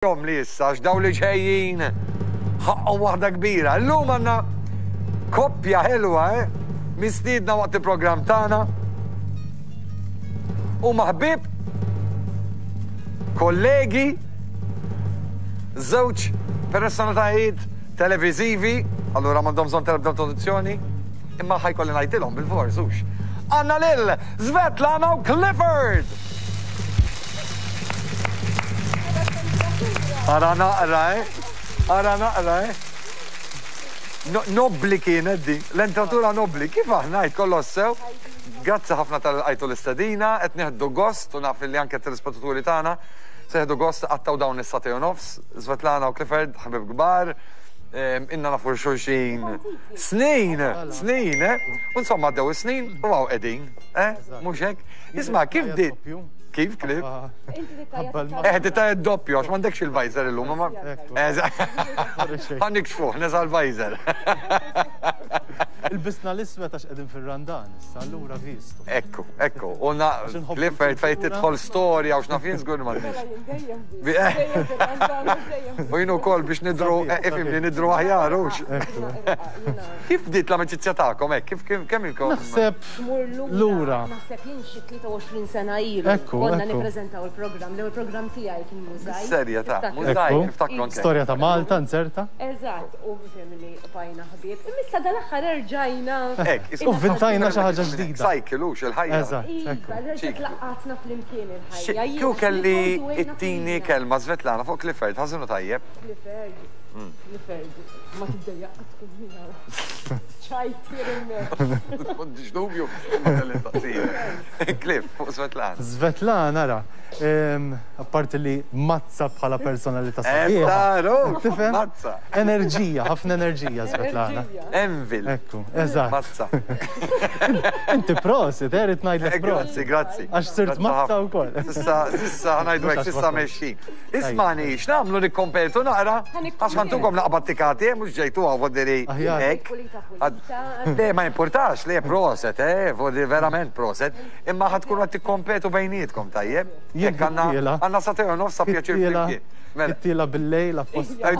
Jom li issa għax dawn li ġejjin ħaqqhom waħda kbira. Illum għandna koppja ħelwa, eh? Mistiedna waqt il-programm tagħna. Huma ħbieb, kollegi, żewġ personalitajiet televiżivi, allura m'għandhom bżonn tal-ebda introduzzjoni, imma ħajkolli ngħidilhom bil-fors hux. Għandna lil Svetlana u Clifford! Ara naqra, eh? Ara naqra, eh? Nobbli kienet di, l-entratura nobbli. Kif aħna għid kollox sew? Grazzi ħafna tal-qajtu l-istedina, qed nieħdu gost u naf li anke t-telespettaturi tagħna se jieħdu gost qattaw dawn is-sagħtejn u nofs. Svetlana u Clifford, ħbieb kbar, inna nafu xulxin snin, snin, eh? U insomma għaddew is-snin u hawn qegħdin, eh? Mhux hekk? Isma' kif di Kif klib? Eh, tita doppju, għax m'għandekx il-visor illum. Ħa nikxfuh, neża' l-visor. Il-bisna l-iswed għax qegħdin fir-Randan, issa allura vistu. Ekku, ekku. U na Clifford fejn tidħol storja u x'naf jien żgur m'għandniex. U jien ukoll biex nidru, eh, ifhimni nidru aħjar hux. Kif bdiet l-amicizja tagħkom hekk? Kif kemm ilkom? Naħseb Tmur lura. Naħseb jien xi 23 sena ilu. Ekku, Konna nippreżentaw il-programm, l-ewwel programm tiegħi kien Mużajk. Serja ta' Mużajk, niftakru anke. Storja ta' Malta, nzerta. Eżatt, u fimni bqajna ħbieb. Imma issa dal-aħħar erġajna. Hekk, U vvintajna xi ħaġa ġdida. Cycle hux il-ħajja. Eżatt, ekku. Iva, reġgħet laqqgħatna flimkien il-ħajja. Kieku kelli ttini kelma Svetlana fuq Clifford, ħażin u tajjeb. Clifford, Clifford, ma tiddejjaq qatt tkun miegħu. Ċajtier immens. M'għandix dubju, imma kelli nsaqsija. Cliff, fuq Svetlana. Svetlana, ara, apparti li mazza bħala personalità sabiħa. Taru, Tifhem? mazza. Enerġija, ħafna enerġija Svetlana. Envil. Ekku, eżatt. Mazza. Inti prosit, eh, rrid ngħidlek prosit. Grazzi, grazzi. Għax sirt mazza wkoll. Sissa, sissa, ħanajdu hekk, sissa mexxin. Ismani, x'nagħmlu nikkompetu naqra? Għax ħantukom naqbad tikati, eh, mhux ġejtu hawn vodiri hekk. Le, ma jimpurtax, le proset, eh, vodiri verament proset. Imma ħa tkunu qed tikkompetu bejnietkom tajjeb. Jekk għandna għandna sagħtejn u nofs ta' pjaċir flimkien. Mela. It-tila bil-lejl apposta.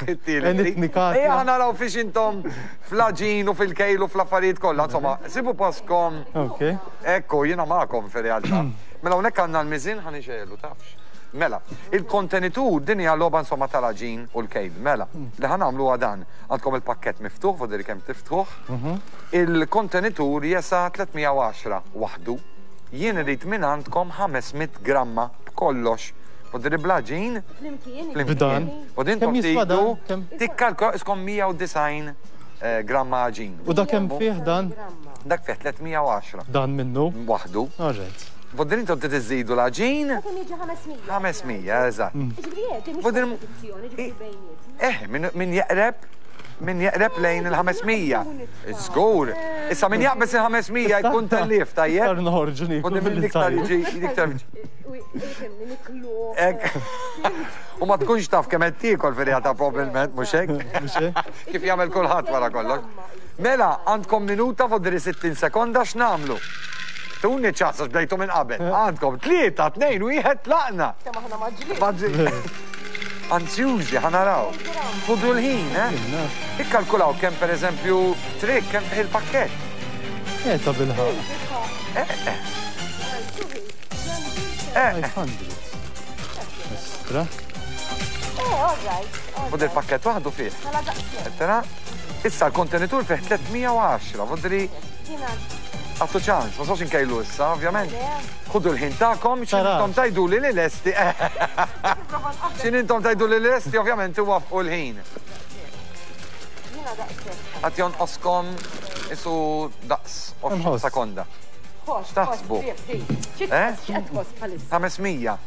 It-tila. Ejja ħa naraw fiex intom fl-għaġin u fil-kejl u fl-affarijiet kollha. Insomma, sibu postkom. Ekku, jiena magħkom fir-realtà. Mela hawnhekk għandna l-miżien ħa nixegħlu tafx. Mela, il-kontenitur din hija logħba insomma tal-għaġin u l-kejl. Mela, li ħa nagħmlu huwa dan. Għandkom il-pakkett miftuħ, fodri kemm tiftħuh. Il-kontenitur jesa' 310 waħdu. Jien irrid minn għandkom 500 gramma b'kollox. Fodri bl-għaġin. Flimkien. Flimkien. Fodri intom tridu tikkalkolaw iskom 190 gramma għaġin. U dak kemm fih dan? Dak fih 310. Dan minnu? Waħdu. All right. Voddin intom trid iżidu l-għaġin. Kemm jiġi 500? 500, eżatt. Ġifieri hekk, mhux kompetizzjoni, ġifieri bejnietna. Eh, min jeqreb min jeqreb lejn il-500. Żgur. Issa min jaqbeż il-500 jkun tellief, tajjeb? Iktar noħorġu nieklu. Min iktar jiġi, iktar. U ma tkunx taf kemm qed tiekol fir-realtà probabbilment, mhux hekk? Mhux hekk? Kif jagħmel kulħadd wara kollox. Mela, għandkom minuta fodri 60 sekonda x'nagħmlu? Tuni ċans għax bdejtu minn qabel. Għandkom 3, 2, 1, tlaqna. Kemm aħna maġlin. Anzjużi, ħa naraw. Ħudu l-ħin, eh? Ikkalkulaw kemm pereżempju trik kemm fih il-pakkett. Eh, ta' bilħaqq. Eh, eh. Eh. 500. Istra. Eh, all right. Ħud il-pakkett waħdu fih. Tara? Issa l-kontenitur fih 310, vodri. Għattu ċans, ma sox inkejlu issa, ovvjament. Ħudu l-ħin tagħkom, x'intom tajdu li li lesti. X'intom tajdu li lesti, ovvjament iwaffqu l-ħin. Għat jonqoskom isu daqs 20 sekonda. X'taħsbu? Eh? 500.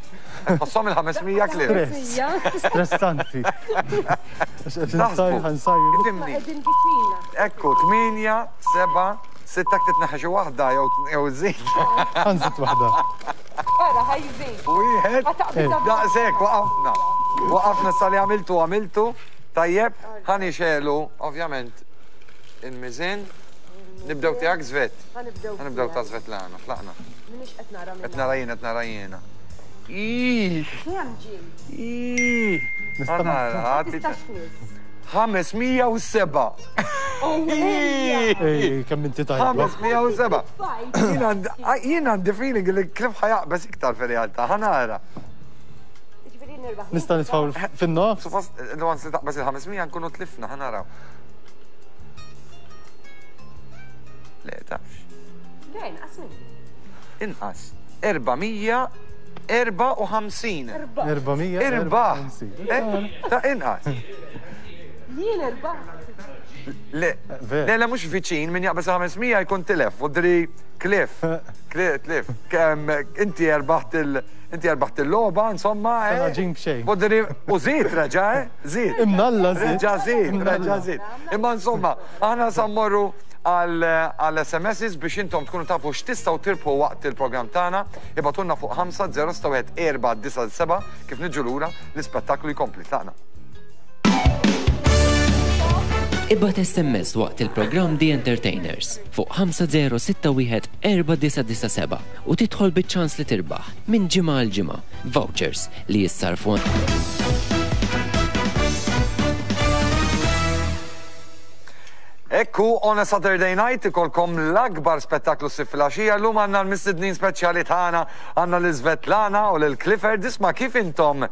Tħosshom il-500 kliem. Stressanti. Ifhimni. Ekku, 8, 7, 6 titneħħi xi waħda jew żid. Ħanżid waħda. Ara, ħajżid. Wieħed. Daqshekk waqafna. Waqafna sa li għamiltu għamiltu. Tajjeb, ħa nixegħlu ovvjament il-miżien. Nibdew tiegħek Svet. Ħa nibdew. Ħa nibdew ta' Svetlana, tlaqna. Minix qed nara Qed nara jien, qed nara jiena. Ih! Kemm ġie? Ih! Nista' Nara, Tistax tmiss. 507. Ih! Ej, kemm inti tajba. 507. Fajt. Jien għandi- Jien għandi feeling li Cliff ħa jaqbeż iktar fir-realtà, ħa nara. Ġifieri nirbaħ. Nista' nitfgħu fin-nofs? Suppost, l-għans li taqbeż il-500 nkunu tlifna, ħa naraw. Le, tafx. Le, inqas minni. Inqas. 454. 400. Irbaħ. Eh, Ta' inqas. Jien irbaħ. Le, Ver. le, le, mhux viċin, min jaqbeż 500 jkun tilef, u dri Cliff, Cliff, Cliff, kemm inti erbaħt il- inti erbaħt il-logħba, insomma. eh. Sena ġin b'xejn. U dri, u żid reġa', eh? Żid. Imnalla żid. Reġa' żid, Imnalla. reġa' żid. Imma insomma, aħna sa mmorru għal għal SMSs biex intom tkunu tafu x'tistgħu tirbħu waqt il-programm tagħna, ibgħatulna fuq 5 0 6 1 4 9 7 kif niġu lura l-ispettaklu jkompli tlaqna. Ibgħat SMS waqt il-programm The Entertainers fuq 5061 4997 u tidħol biċ-ċans li tirbaħ minn ġimgħa għal ġimgħa vouchers li jissarfu Ekku, on a Saturday night ikolkom l-akbar spettaklu s filgħaxija llum għandna l-mistednin speċjali tagħna, għandna lil Svetlana u lil Clifford. Isma' kif intom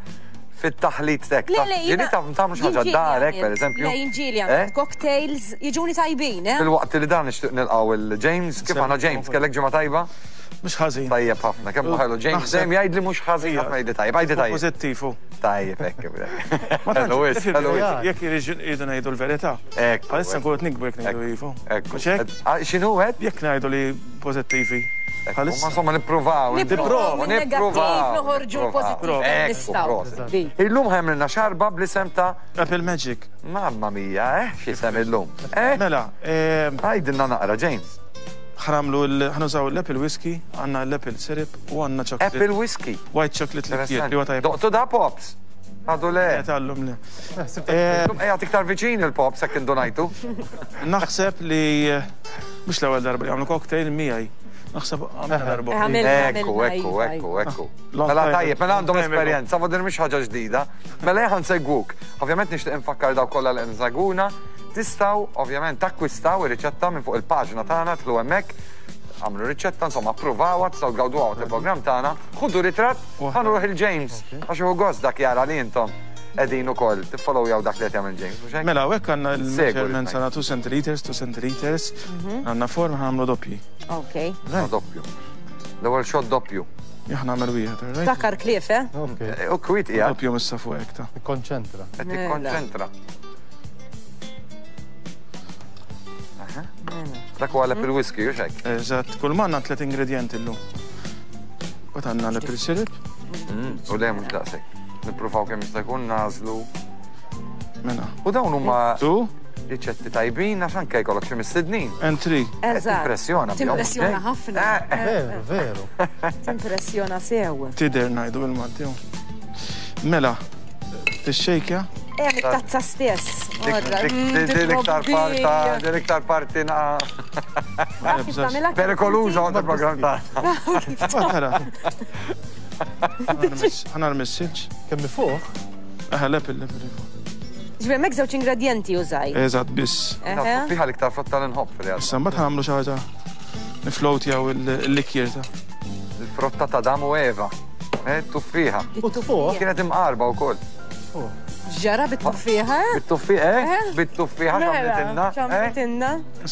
fit-taħlit tek? Le, le, Ġieli taf tagħmlu xi ħaġa darek, per eżempju? Le, jien ġieli Eh? għamilt cocktails, jiġuni tajbin, eh? Fil-waqt li dan nixtieq nilqgħu il-James, kif aħna James, kellek ġimgħa tajba? Mhux ħażin. Tajjeb ħafna, kemm ħelu James Naħseb- dejjem jgħid li mhux ħażin, ħafna jgħidli tajjeb, għajdi tajjeb. Pożittiv hu. Tajjeb hekk. Ma Hello, tantx, is, hello, is. jekk irridu ngħidu l-verità. Ekku, Bħalissa nkunu qed nikbu jekk ngħidu Ekku, iva. ekku. Mhux hekk? Ah, X'inhu qed? Jekk ngħidu li pożittivi. Ma Bħalissa. insomma nippruvaw. Nippruvaw nippruvaw, min-negattiv noħorġu nippruvaw. l-pożittiv Ekku, nistgħu. proset. Dik. Illum ħemlilna xarba bl-isem ta' Apple Magic. Mamma mia, eh? X'isem illum. Eh? Mela, Għajdilna naqra, James. ħramlu ħanużaw l-Apple Whiskey, għandna l-Apple Syrup u għandna chocolate. Apple Whiskey. White chocolate liqueur li huwa tajjeb. Doqtu da Pops. Għadu le. Tallum le. Illum qiegħed iktar viċin il-Pops hekk indunajtu. Naħseb li mhux l-ewwel darba li għamlu cocktail miegħi. Naħseb għamilna darba. Għamilna, Ekku, għamilna, ekku, iva, ekku, iva. ekku. Long Mela time tajjeb, ago. mela għandhom Long time ago. esperjenza, vodir mhix ħaġa ġdida. Mela ejja nsegwuk. Ovvjament nixtieq infakkar daw kollha li nsegwuna. Tistgħu ovvjament takkwistaw ir-riċetta minn fuq il-paġna tagħna tlu hemmhekk. Għamlu riċetta, insomma, approvawha, tistgħu tgawduha waqt il-programm tagħna. Ħudu ritratt, ħanruħ il-James, għax hu gost dak jara li intom qegħdin ukoll tiffollowjaw dak li qed jagħmel James, mhux hekk? Mela, hekk għandna Segwu l-measurements l-tnejn. għandna 2 centiliters, 2 centiliters, għandna forma ħamlu doppji. Ok. No, doppju. L-ewwel shot doppju. Jien nagħmel wieħed, all right? Takar Cliff, eh? Ok, U kwiet qiegħed Doppju missa fuq hekk ta' konċentra. qed Mela. tikkonċentra. Aha. Dak huwa l-apple whisky, hux hekk? Eżatt, kull ma għandna tliet ingredienti llum. U għandna l-apple syrup, U le mhux daqshekk. Nippruvaw kemm jista' jkun nażlu. mela. U dawn huma Two riċetti tajbin għax anke jkollok xi mistednin. and three. Eżatt. Timpressjona bihom, Timpressjona ok? ħafna. Veru, veru. Timpressjona sew. Tider ngħidu bil-Malti. hu. Mela, tixxejkja, Eh, mit-tazza stess. Orra, Dik l-iktar parta, dik l-iktar parti na perikoluża waqt il-programm tagħna. Tara. Ħana l-message. Kemm fuq? Aha, l-apple, l-apple. Ġifieri hemmhekk żewġ ingredjenti użaj. Eżatt, biss. Eħe. Fiha l-iktar frotta li nħobb fil-realtà. Issa mbagħad ħanamlu xi ħaġa niflowtjaw il-likjer ta' Il-frotta ta' Adam u Eva. Eh, Tuffiħa. U fuq? Kienet imqarba wkoll. Ġara bit-tuffieħa? Bit-tuffieħa, eh? Bit-tuffieħa Mela, x'għamlitilna. eh? X'għamlitilna?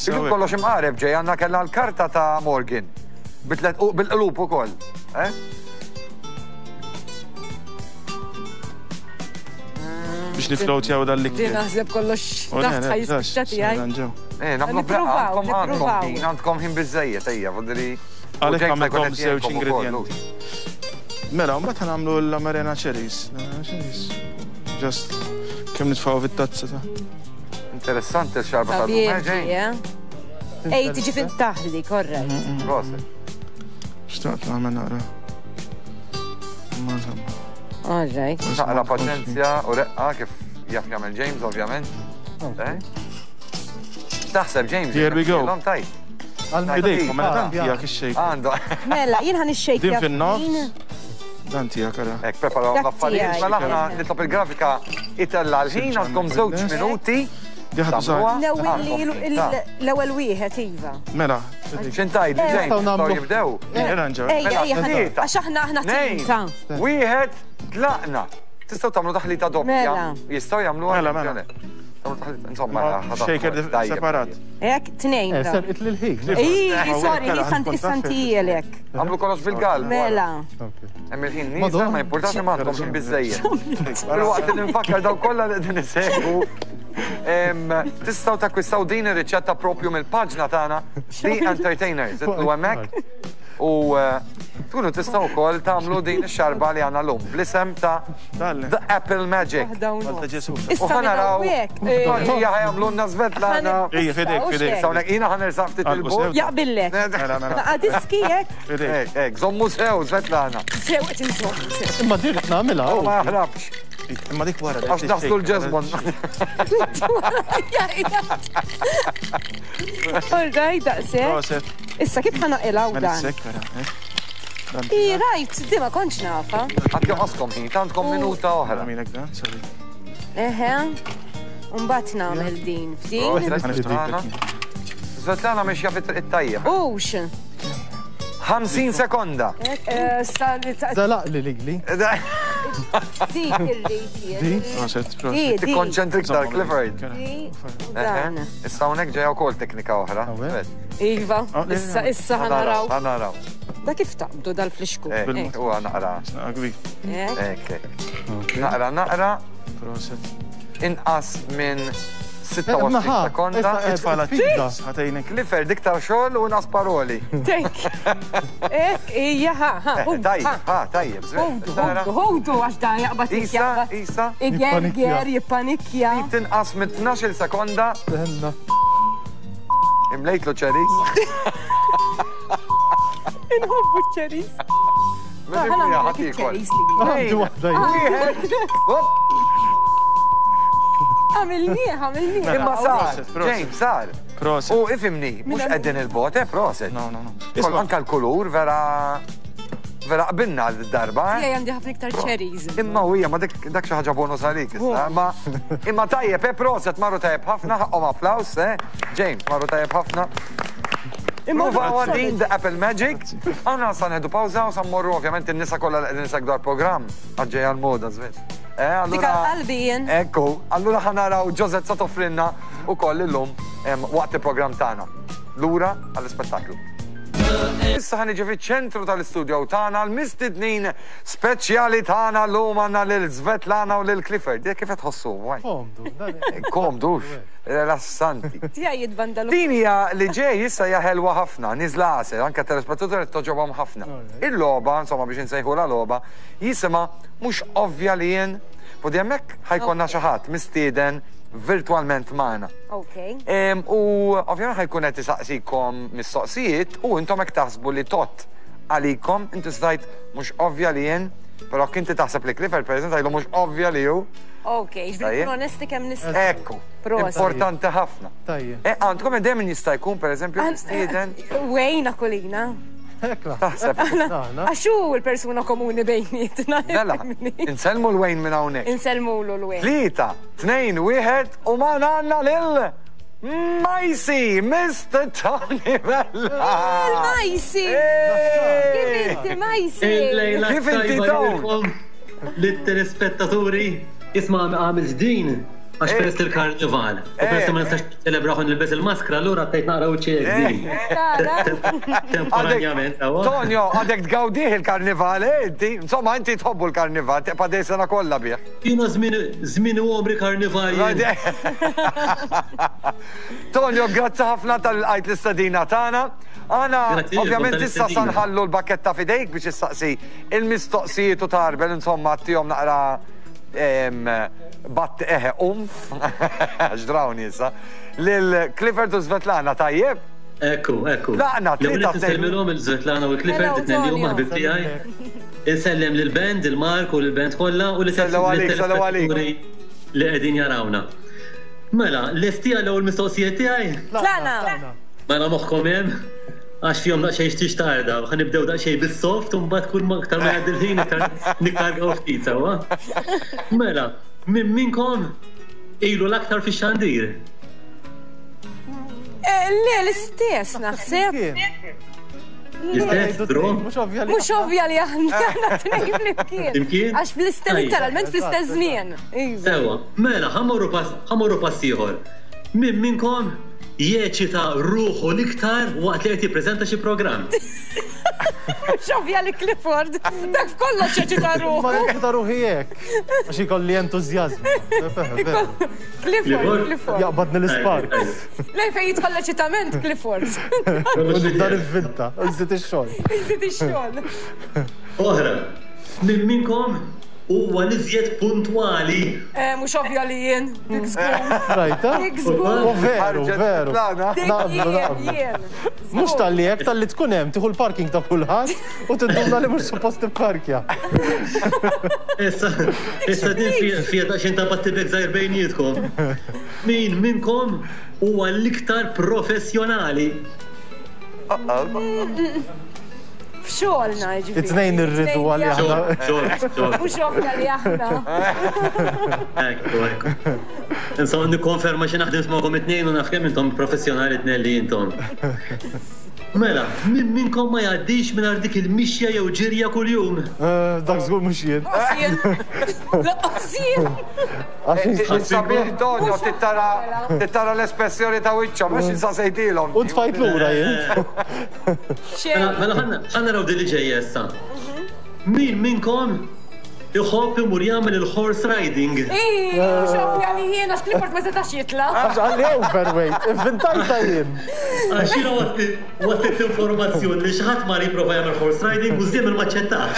Illum kollox imqareb ġej għandna kellha l-karta ta' Morgan. Bitlet u bil-qlub ukoll. Eh? biex niflowtjaw Di dal-likjer. naħseb kollox taħt ħajspiċċa tiegħi. Eh, nagħmlu Nippruvaw, għandkom għandkom nippruvaw. ħin, għandkom ħin biżejjed ejja, vodri. Għalhekk għamilkom żewġ ingredienti. Mela, mbagħad ħanamlu l-amarena cherries. L-amarena cherries. Just kemm nitfgħu fit-tazza ta' Interessanti l-xarba ta' Sabiħ, ġej. eh? Ej, tiġi fin taħli, korrekt. Proset. Xtaqt nagħmel naqra. Ma insomma. All right. Naqra paċenzja u reqqa kif jaf jagħmel James, ovvjament. Eh? Taħseb James. Here we go. L-om tajt. Idejkom, mela tant tiegħek ix-xejk. Għandu. Mela, jien ħan ix-xejk. Din fin-nofs. Dan tiegħek ara. Hekk preparaw Dak l-affarijiet. tiegħi. Mela aħna nitlob il-grafika itella l-ħin għandkom żewġ minuti. Tagħmluha. L-ewwel wieħed iva. Mela. X'intajd, ġejn, nistgħu jibdew. Ejja, ejja, għax aħna aħna tinta. Wieħed tlaqna. Tistgħu tagħmlu taħlita doppja. Mela. Jistgħu jagħmluha. Mela, mela. Tagħmlu taħlita, insomma, Shaker separat. Ek, tnejn. Eh, serqit lil ħin. Ej, sorry, isantijelek. Għamlu kollox bil-galb. Mela. Hemm il-ħin nieżel ma jimpurtax imma għandkom ħin biżejjed. Filwaqt li nfakkar daw kollha li qegħdin isegwu tistgħu takkwistaw din ir-riċetta propju mill-paġna tagħna The Entertainers. Idħlu hemmhekk u eh, tkunu tistgħu wkoll tagħmlu din ix-xarba li għandna llum bl-isem ta' The Apple Magic. U ħa naraw Maġija ħa jagħmlulna Svetlana. Ejja, fidejk, fidejk. Issa hawnhekk jiena ħa nersaq ftit il-bogħod. Jaqbillek. Mela, mela. Naqa' diski hekk. Hekk, hekk, żommu sew Svetlana. Sew qed inżomm. sew. Imma din qed nagħmilha. U ma jaħrabx. Imma dik wara. Għax daħslu l-ġeżmon. All right, daqshekk. Proset. Issa kif ħa naqilgħu Mela dan? sekk, ara. hekk. Dan I rajt, di ma kontx nafa. Għad joqoskom ħin, għandkom minuta oħra. Għamilek dan, sorry. Eħe. Mbagħad nagħmel din f'din. Svetlana. Svetlana mexja fit-triq it-tajjeb. Ux. 50 sekonda. Eh, sa li ta' Zalaq li ligli. dik irrid jien. Di? Proset, proset. Di, di. Tikkonċentri iktar, Clifford. Di u dan. Issa hawnhekk ġejja wkoll teknika oħra. Hawnhekk? Iva, issa issa ħanaraw. Ħanaraw. Da kif taqbdu dal-flixku? Hekk, huwa naqra. Naqra kbir. Hekk. Hekk, hekk. Naqra, naqra. Proset. Inqas minn 26 sekonda. Itfala Issa ħatejnek. Clifford iktar xogħol u inqas paroli. Tek. Hekk, ija, ha, ha. Eh, Tajjeb, ha, tajjeb. Ħudu, Tara. ħudu, ħudu, għax dan jaqbad Isa, jaqbad. isa. Igerger, jippanikja. Tinqas minn 12 sekonda. Tenna. Imlejtlu ċeris. Inħobbu ċeris. Minn ħadd jiekol. ċeris li. Għandi waħda jien. Wieħed. Hop. Għamilnieh, għamilnieh. Imma sar, Proset, proset. James, sar. Proset. U ifimni, mhux qegħdin il-bot, eh, proset. No, no, no. Kol Isma' anka l-kulur vera vera qbilna d-darba. eh? Tiegħi għandi ħafna iktar ċeris. Imma u hija ma dik dak xi ħaġa bonus għalik issa. Imma imma tajjeb, eh, proset marru tajjeb ħafna, ħaqhom applaws, eh. James, marru tajjeb ħafna. Imma Pruvaw din The Apple Magic. Aħna sa nieħdu pawża u sa mmorru ovvjament in-nisa kollha li qegħdin isegwu dal-programm għaġġej għall-moda żviet. Eh, Dik allura għal-qalbi jien. Ekku, allura ħa naraw Josette sa toffrilna ukoll illum waqt il-programm tagħna. Lura għall-ispettaklu. Issa ħa niġi fiċ-ċentru tal-istudio tagħna l-mistednin speċjali tagħna llum għandna lil Svetlana u lil Clifford. Jekk kif qed tħossu? Komdu. dan- Komdux, rilassanti. Tiegħi jitbandalu. Din hija li ġej issa hija ħelwa ħafna, niżla għasel, anke telespettaturi toġobhom ħafna. Il-logħba, insomma biex insejħulha logħba, jisimha mhux ovvja li jien Fodi hemmhekk ħajkonna xi ħadd mistieden virtwalment magħna. Ok. U ovvjament ħajkun qed isaqsikom mistoqsijiet u intom hekk taħsbu li tot għalikom, inti stajt mhux ovvja li jien, però kinti taħseb li Clifford pereżempju tgħidlu mhux ovvja li hu. Ok, ġifieri nkun onesti kemm nista'. Ekku. Importanti ħafna. Tajjeb. E għandkom idea min jista' jkun pereżempju mistieden? Wayne Aquilina. Taħseb. Għax hu l-persuna komuni bejnietna. Mela, insellmu l-Wayne minn hawnhekk. Insellmulu l-Wayne. Tlieta, tnejn, wieħed u magħna għandna lil Majsi, Mr. Tony Vella. Il-Majsi! Kif inti Majsi? Kif inti Tony? Lit-telespettaturi, isma' għamilt din għax peress li l-karnival. U peress li ma nistax niċċelebraħ u nilbes il-maskra, allura għattejt naqra wiċċi hekk din. Temporanjament, sewwa. Tonio, għadek tgawdih il-karnival, eh, inti? Insomma, inti tħobbu l-karnival, tibqa' dej sena kollha bih. Jiena żmien żmien u għomri karnival jien. Tonio, grazzi ħafna tal-qajt l-istedina tagħna. Aħna ovvjament issa sa nħallu l-bakketta f'idejk biex issaqsi il-mistoqsijiet u tarbel, insomma, tihom naqra Batt eħe umf, għax drawni issa, lil Clifford u Svetlana, tajjeb? Ekku, ekku. Tlaqna, tlieta. Nsellmilhom il-Svetlana u Clifford, it-tnejn li huma ħbib tiegħi. Insellem lill-band, il-Mark u lill-band kollha u lit-telespettaturi li qegħdin jarawna. Mela, lesti għall-ewwel mistoqsija tiegħi? Tlaqna. Mela moħħkom hemm? Għax fihom daqsxejn xtiex tarda, ħa nibdew daqsxejn bis-soft u mbagħad kull ma aktar ma jgħaddi l-ħin iktar nikkargaw ftit sewwa. Mela, min minnkom ilu l-aktar fix-xandir? Eh, le, l-istess naħseb. L-istess, bro? Mhux ovvja li aħna tnejn flimkien. Għax fl-istess, literalment fl-istess żmien. Iva. Sewa, mela, ħamorru pass ieħor. Min minnkom jeċita ruħu l-iktar waqt li qed jippreżenta xi programm. Mhux ovvja li Clifford, dak f'kollox jeċita ruħu. Ma neċita ruħi hekk, għax ikolli entużjażmu. Clifford, Clifford. Jaqbadni l-ispark. Lej fejn jidħol l-eċitament Clifford. U nibda nivvinta, nżid ix-xogħol. Nżid ix-xogħol. Oħra, min minnkom huwa l-iżjed puntwali? Eh, mhux ovvja li jien, dik żgur. Rajta? Dik żgur. U veru, veru. Naqblu, naqblu. Jien. Mhux talli hekk, talli tkun hemm, tieħu l-parking ta' kulħadd u tinduna li mhux suppost tipparkja. Issa, issa din fija daqsxejn ta' battibek żgħir bejnietkom. Min minnkom huwa l-iktar professjonali? F'xogħolna jiġifieri. It-tnejn irridu għalli aħna. Xogħol, xogħol. Mhux ovvja li aħna. Ekku, ekku. Insomma, nikkonferma xi naħdem magħkom it-tnejn u naf kemm intom professjonali tnejn li intom. Mela, min minnkom ma jgħaddix mingħajr dik il-mixja jew ġirja kuljum? Eh, dak żgur mhux jien. Jien. Laqqas jien. Sabiħ Tonio, tittara l-espressjoni ta' wiċċhom, biex insasejtilhom. U tfajt lura jien. Mela, mela ħa naraw din li ġejja issa. Min minnkom iħobb imur jagħmel il-horse riding? Ii, mhux ovvja li jien għax Clifford ma setax jitla'. Għax qalli overweight, ivvintajtha jien. Għax jiena waslet informazzjoni li xi ħadd mar jipprova jagħmel horse riding u żiemel ma ċċettax.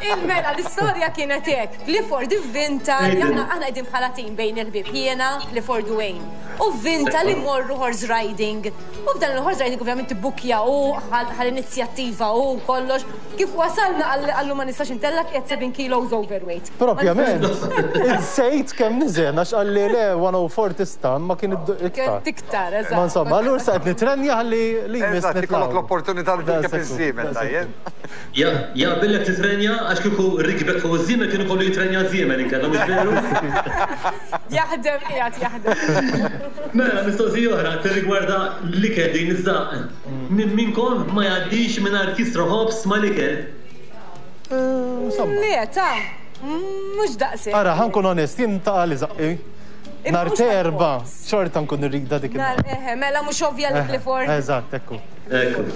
Il-mela l-istorja kienet hekk. Clifford ivvinta li aħna aħna qegħdin bħala tim bejn il-ħbieb jiena, Clifford u Wayne. U vvinta li mmorru horse riding. U f'dan il-horse riding ovvjament ibbukkja hu, ħa l-inizjattiva hu u kollox. Kif wasalna qallu ma nistax intellgħek qiegħed 7 kilos overweight. Propjament, insejt kemm niżen għax qalli le 104 tista' imma kien iktar. Kien iktar, eżatt. Ma insomma, allura issa qed nitrenja ħalli li jmiss Eżatt, ikollok l-opportunità li tirkeb iż-żiemel, tajjeb. Jaqbillek titrenja għax kieku rikbek fuq iż-żiemel kien ikollu jitrenja ż-żiemel inkella mhux veru? Jaħdem qiegħed jaħdem. Mela, mistoqsija oħra tirrigwarda l-ikel din iż-żaqq. Min minnkom ma jgħaddix mingħajr kisra ħobż mal-ikel? Insomma. Le, ta' mhux daqshekk. Ara, ħa nkun onest, jien taqali żaqqi. Nhar t'Erbgħa xorta nkun irridha dik il- Eħe, mela mhux ovvja li Clifford. Eżatt, ekku. Ekku.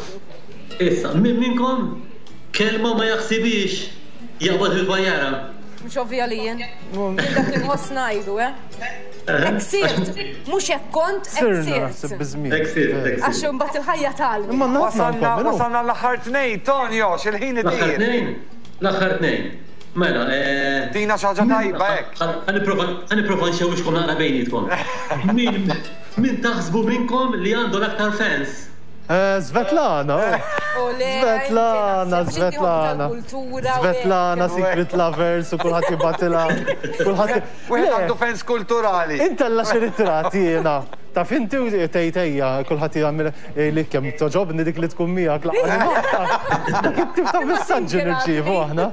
Issa, min minnkom kelma ma jaħsibhiex jaqbad il-bajjara? Mhux ovvja li jien. Jien dak li nħoss ngħidu, eh? Hekk sirt, mhux hekk kont, hekk sirt. Hekk sirt, hekk sirt. Għax imbagħad il-ħajja tgħallmek. Imma naf Wasalna, wasalna l-aħħar tnejn, Tonio, x'il-ħin itir. L-aħħar tnejn? L-aħħar tnejn. Mela, eh. Tina xi ħaġa tajba hekk. Ħa nipprova, ħa nipprova nxewwixkom naqra bejnietkom. Min, min taħsbu minnkom li għandu l-aktar fans? Svetlana, Svetlana, Svetlana. Svetlana, Secret Lovers, u kulħadd jibgħatilha. Kulħadd. Wieħed għandu fens kulturali. Intella xi ritratti jiena. Taf inti u tgħid ejja, kulħadd jagħmel li kemm toġobni dik li tkun miegħek laqgħa. Dak it-tip ta' messaġġi nirċievu aħna.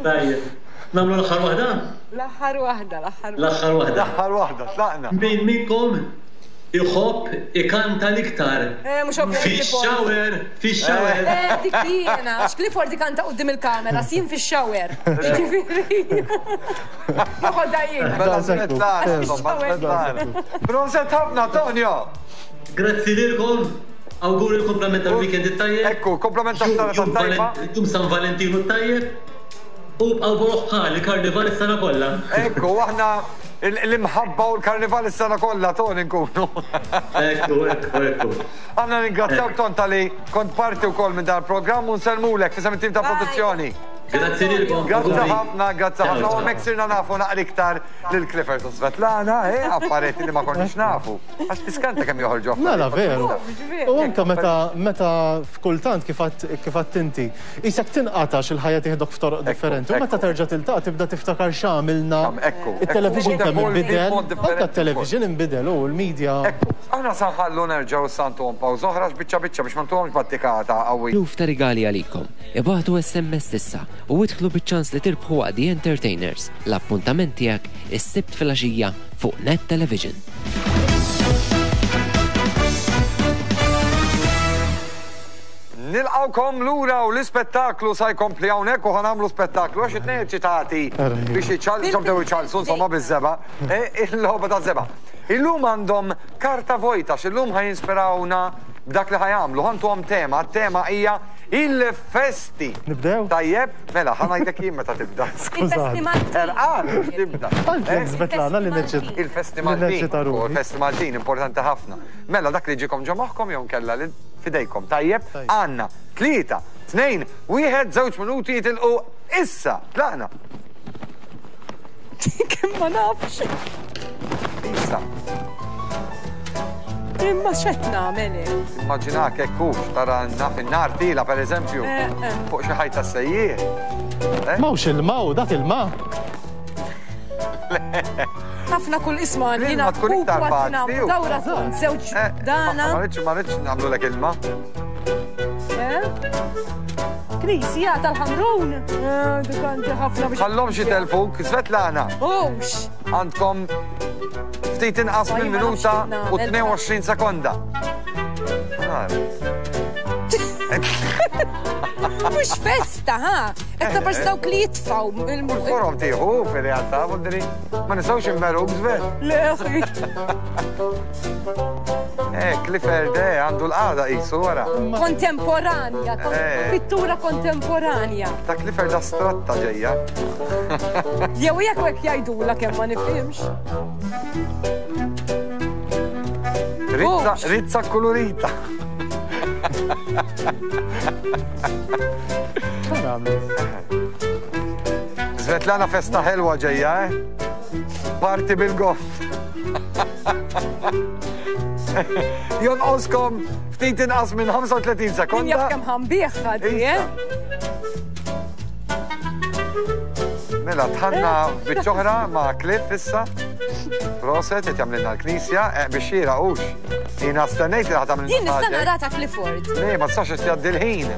Tajjeb. Nagħmlu l-aħħar waħda? L-aħħar waħda, l-aħħar waħda. L-aħħar waħda. L-aħħar waħda, tlaqna. Min minnkom Iħobb ikanta l-iktar. Eh, mhux ovvja li Clifford. Fix-shower, fix-shower. Eh, dik li jiena, għax Clifford ikanta quddiem il-kamera, jien fix-shower. Jiġifieri. Noħodha jien. Mela Svetlana, insomma, Svetlana. Proset ħafna, Tonio! Grazzi lilkom, awguri l-kumplament tal-weekend it-tajjeb. Ekku, kumplament tas-sena tat-tajba. Jum San Valentinu t-tajjeb. U bqgħu boroħ bħali karnival is-sena kollha. Ekku, aħna l-imħabba u l-karnival is-sena kollha Ton inkunu. Ekku, ekku, ekku. Aħna ningrazzjawk Ton talli kont parti wkoll minn dan il-programm u nsellmulek f'isem it-tim ta' produzzjoni. Grazzi lilkom. Grazzi ħafna, grazzi ħafna. U hemmhekk sirna nafu naqra iktar lil Clifford u Svetlana, eh, affarijiet li ma konniex nafu. Għax tiskanta kemm joħorġu affarijiet. Mela veru. U anke meta meta f'kultant kif għedt inti, qisek tinqata' x'il-ħajja tieħdok f'toroq differenti. U meta terġa' tiltaqa' tibda tiftakar x'għamilna. It-television kemm inbidel, anke t-television inbidel u l-media. Ekku. Aħna sa nħallu nerġgħu issa ntuhom pawża oħra għax biċċa biċċa biex ma ntuhomx battikata qawwija. Eluf ta' rigali għalikom. Ibagħtu SMS issa u idħlu biċ-ċans li tirbħu waqt The Entertainers, l-appuntament tiegħek is-Sibt filgħaxija fuq Net Television. Nilqgħukom lura u l-ispettaklu sa jkompli hawnhekk u ħa nagħmlu spettaklu għax it-tnejn eċċitati biex iċċal bdew iċallsu insomma biż-żebgħa, eh, il-logħba taż-żebgħa. Illum għandhom karta vojta għax illum ħa jinspirawna b'dak li ħa jagħmlu. Ħa ntuhom tema, t-tema hija il-festi. Nibdew? Tajjeb, mela, ħa ngħidlek jien meta tibda. Il-festi Maltin. Erqan biex tibda. Għalfejn Svetlana li neċċit. Il-festi Maltin. Il-festi Maltin, importanti ħafna. Mela, dak li ġiekom ġo moħħkom jew nkella li fidejkom. Tajjeb, għandna 3, 2, 1, żewġ minuti jitilqu issa. Tlaqna. Kemm ma nafx. Issa. Imma x'qed nagħmel Immaġinak hekk hux tara naf in-nar tila pereżempju eh, eh. fuq xi ħajta sejjieħ. Eh? Mawx il-ma u dak il-ma. Ħafna kull isma jiena tkun iktar faċli. Dawra tkun żewġ dana. Ma rridx ma rridx nagħmlu ilma. Knisja tal-Ħamrun. Dik għandi ħafna biex. Ħallhomx jitelfuk, Svetlana. Hux. Għandkom ftit inqas minn minuta u 22 sekonda. Mhux festa, ha? Qed ta' dawk li jitfgħu il-forom tieħu fir-realtà, vuldiri. Ma nistgħux immeruk żvet. Le, akhi. Eh, Clifford, eh, għandu l-qagħda qisu wara. Kontemporanja, eh. pittura kontemporanja. Ta' Clifford astratta ġejja. Jew jekk hekk jgħidula kemm ma nifhimx. Rizza, rizza kolorita. Svetlana festa ħelwa ġejja, eh? Parti bil-goff. Jonqoskom ftit inqas minn 35 sekonda. Jaf kemm ħambieħ ħaddi, eh? Mela, tħanna biċċoħra ma' Cliff issa. Proset, qed jagħmlilna l-knisja, eh, biex xira hux. Jiena stennejt li ħa tagħmlilna. Jien nista' nara ta' Clifford. Le, ma tistax qed jgħaddi l-ħin.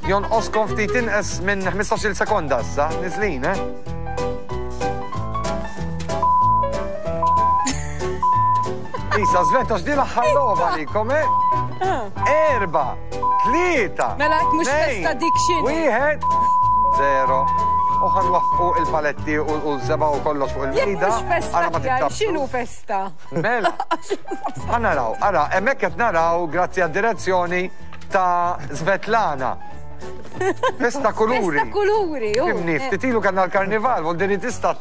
Jonqoskom ftit inqas minn 15-il sekonda issa, niżlin, eh? Isa, Sveta, x'di l-aħħar logħba għalikom, eh? Erba, tlieta. Mela, mhux festa dik xi. Wieħed, zero. U ħanwaffqu il-paletti u l-żeba u kollox fuq il-mejda. Jekk mhux festa x'inhu festa? Mela. Ħa naraw, ara, hemmhekk qed naraw grazzi għad-direzzjoni ta' Svetlana. Festa kuluri. Festa kuluri, u. Fimni, ftit ilu kellna l-karnival, vuol dire tista'.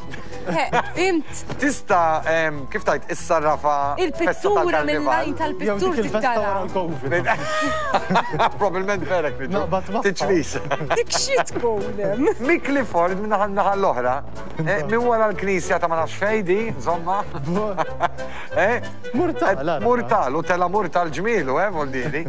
Fimt. Tista' kif tajt issarrafa. Il-pittura mill-lajn tal-pittur tittara. Probabilment vera kif. Tiċris. Dik xi tkun hemm. Mick Clifford minn naħa naħa l-oħra, eh, minn wara l-knisja ta' ma nafx fejdi, insomma. Eh? Murtal. Murtal, u tela murtal ġmielu, eh, vuol dire.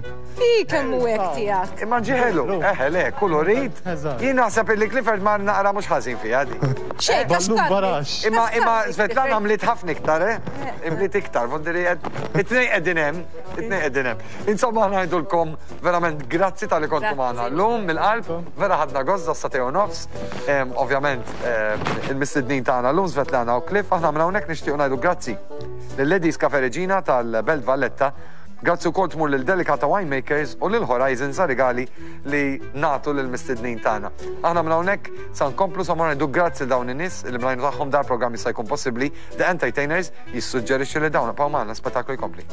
I kemm hu hekk tiegħek. Imma ġiħelu, eħe le, kulurit. Jien naħseb illi Clifford mar naqra mhux ħażin fiha di. Xejn, barax. Imma imma Svetlana mliet ħafna iktar, eh? Imliet iktar, vuol qed it-tnejn qegħdin hemm, it-tnejn qegħdin hemm. Insomma aħna ngħidulkom verament grazzi talli kontu magħna llum mill-qalb, vera ħadna gost sa u nofs. Ovvjament il-mistednin tagħna llum Svetlana u Cliff, aħna minn hawnhekk nixtiequ ngħidu grazzi lil Ladies Cafe Regina tal-Belt Valletta Grazzi wkoll tmur lil Delicata Winemakers u lil Horizons għar-rigali li nagħtu lill-mistednin tagħna. Aħna minn hawnhekk sa nkomplu sa mmorru ngħidu grazzi lil dawn in-nies li bl-għajnuna tagħhom dal-programm jista' jkun possibbli. The Entertainers jissuġġerixxi li dawn ibqgħu magħna, l-spettaklu jkompli.